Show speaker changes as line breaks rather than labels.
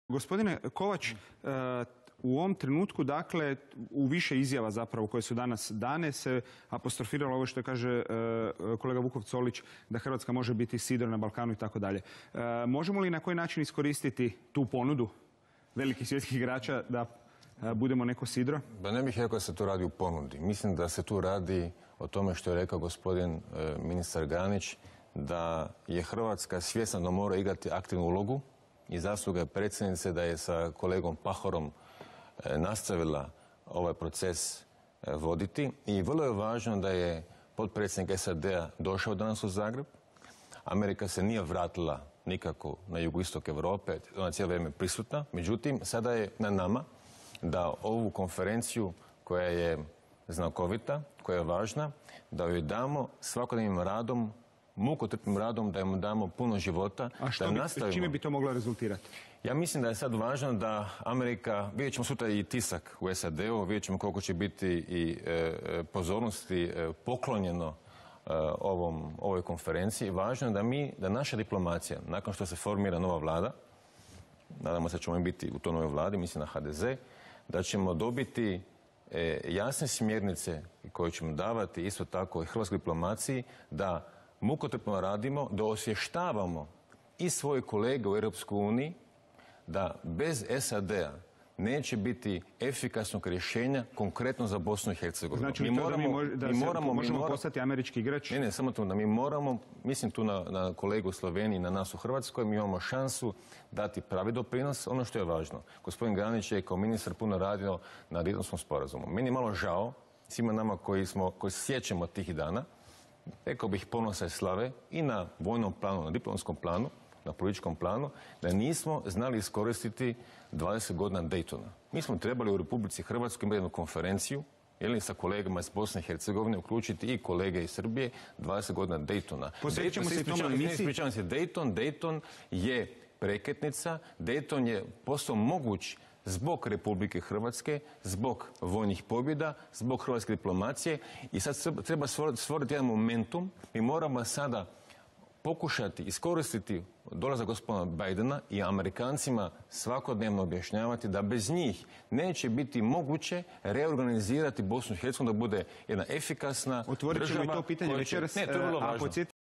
Gospodine Kovač, u ovom trenutku, dakle, u više izjava zapravo koje su danas dane se apostrofiralo ovo što kaže kolega Vukov Colić, da Hrvatska može biti sidro na Balkanu i tako dalje. Možemo li na koji način iskoristiti tu ponudu velikih svjetskih igrača da budemo neko sidro?
Da ne bih rekao da se tu radi u ponudi. Mislim da se tu radi o tome što je rekao gospodin ministar Granić, da je Hrvatska svjesna da mora igrati aktivnu ulogu i zasluga je predsjednice da je sa kolegom Pahorom nastavila ovaj proces voditi. I vrlo je važno da je potpredsjednik SAD-a došao danas u Zagreb. Amerika se nije vratila nikako na jugoistok Europe, ona cijelo vrijeme prisutna. Međutim, sada je na nama da ovu konferenciju koja je znakovita, koja je važna, da joj damo svakodnevnim radom, mukotrpnim radom, da im damo puno života.
A čime bi to moglo rezultirati?
Ja mislim da je sad važno da Amerika, vidjet ćemo sutra i tisak u SAD-u, vidjet ćemo koliko će biti i pozornosti poklonjeno ovoj konferenciji. Važno je da naša diplomacija, nakon što se formira nova vlada, nadamo se da ćemo biti u toj novoj vladi, mislim na HDZ, da ćemo dobiti jasne smjernice koje ćemo davati isto tako i hrvatskoj diplomaciji, da mukotrpno radimo, da osvještavamo i svoje kolege u Europskoj uniji da bez SAD-a neće biti efikasnog rješenja konkretno za Bosnu i Hercegovinu.
Znači možemo postati američki igrač?
Ne, samo to da mi moramo, mislim tu na kolegu u Sloveniji, na nas u Hrvatskoj, mi imamo šansu dati pravi doprinos, ono što je važno. Gospodin Granić je kao ministar puno radio na Daytonskom sporazumu. Meni je malo žao, svima nama koji se sjećamo tih dana, rekao bih ponosa i slave i na vojnom planu, na diplomatskom planu, na političkom planu, da nismo znali iskoristiti 20 godina Daytona. Mi smo trebali u Republici Hrvatskoj imati jednu konferenciju, sa kolegama iz Bosne i Hercegovine, uključiti i kolege iz Srbije, 20 godina Daytona. Dayton je prekretnica, Dayton je postao moguć zbog Republike Hrvatske, zbog vojnih pobjeda, zbog hrvatske diplomacije i sad treba stvoriti jedan momentum. Mi moramo sada pokušati iskoristiti dolazak gospodina Bidena i Amerikancima svakodnevno objašnjavati da bez njih neće biti moguće reorganizirati Bosnu i Hercegovinu da bude jedna efikasna država.
Otvorit ćemo i to pitanje večeras.
Ne, to je vrlo važno.